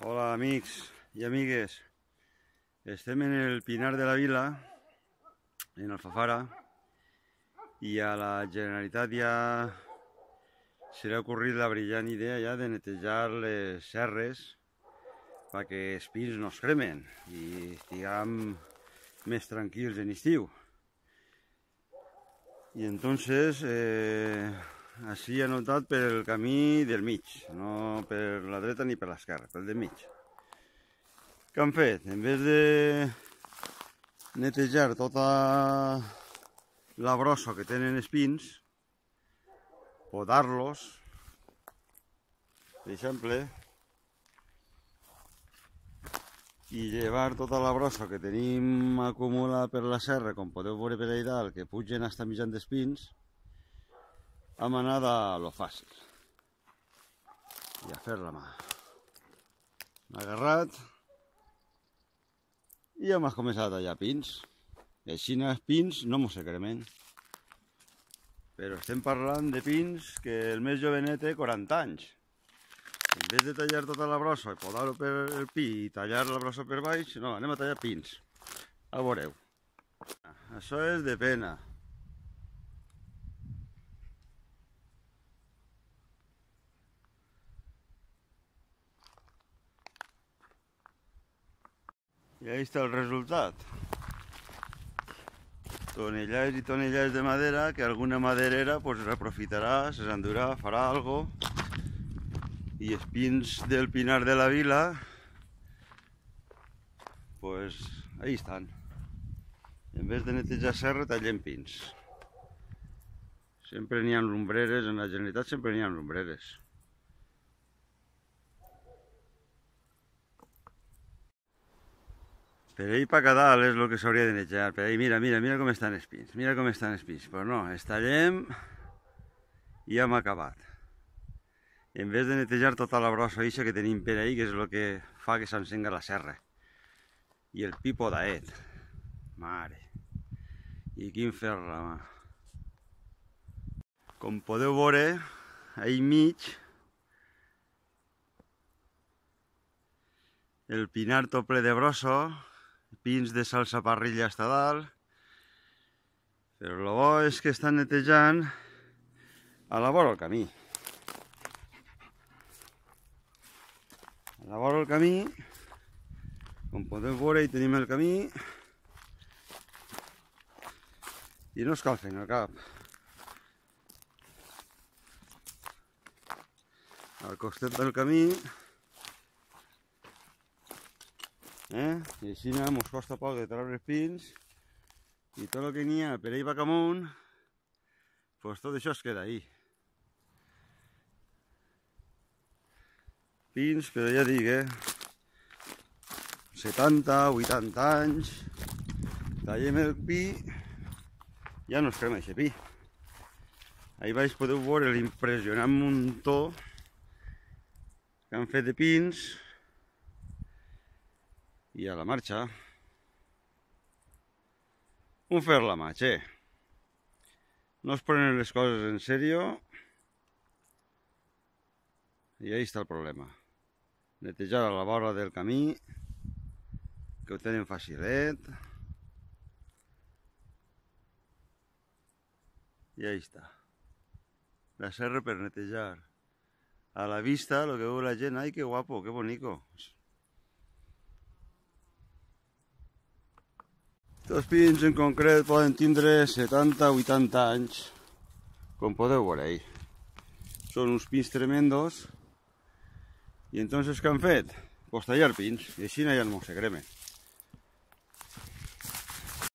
Hola amics i amigues, estem en el Pinar de la Vila, en Alfafara, i a la Generalitat ja se li ha ocorrit la brillant idea ja de netejar les serres perquè els pins no es cremen i estiguem més tranquils en estiu. I entonces així han optat per el camí del mig, no per la dreta ni per l'esquerra, pel del mig. Què han fet? En vez de netejar tota la brossa que tenen els pins, podar-los, per exemple, i llevar tota la brossa que tenim acumulada per la serra, com podeu veure per allà dalt, que pugen fins mitjan dels pins, hem anat a lo fàcil i a fer la mà. Hem agarrat i hem començat a tallar pins. Així els pins no mos se cremen, però estem parlant de pins que el més jovenet té 40 anys. En vez de tallar tota la brossa i podar-ho per el pi i tallar la brossa per baix, no, anem a tallar pins. A veureu. Això és de pena. I ahí està el resultat. Tonellars i tonellars de madera que alguna maderera pues reaprofitarà, se s'endurà, farà algo. I els pins del Pinar de la Vila, pues ahí estan. En vez de netejar serra, tallem pins. Sempre n'hi ha lumbreres, en la Generalitat sempre n'hi ha lumbreres. Per ahí pa cada dalt és el que s'hauria de netejar. Per ahí, mira com estan els pins. Mira com estan els pins. Però no, els tallem i hem acabat. En vez de netejar tota la brossa eixa que tenim per ahí, que és el que fa que s'encenga la serra. I el pi podaet. Mare. I quin ferra, mà. Com podeu veure, ahí mig, el pinar tot ple de brossa, pins de salsa parrilla hasta dalt, però el bo és que estan netejant a la vora del camí. A la vora del camí, com podeu veure, hi tenim el camí i no es cal fer el cap. Al costat del camí, i així mos costa poc de treure els pins i tot el que n'hi ha per ahí baix amunt, pues tot això es queda ahí. Pins, però ja dic, 70, 80 anys, tallem el pi, ja no es crema aquest pi. Ahí baix podeu veure l'impressionant muntó que han fet de pins i a la marxa. Un fer la mà, che. No es prenen les coses en serio i ahí està el problema. Netejar a la vora del camí, que ho tenen facilet. I ahí està. La serra per netejar. A la vista, lo que veu la gent, ai, que guapo, que bonico. Els pins en concret poden tindre 70-80 anys, com podeu veure ahí. Són uns pins tremendos. I entonces què han fet? Pues tallar pins, i així ja no se cremen.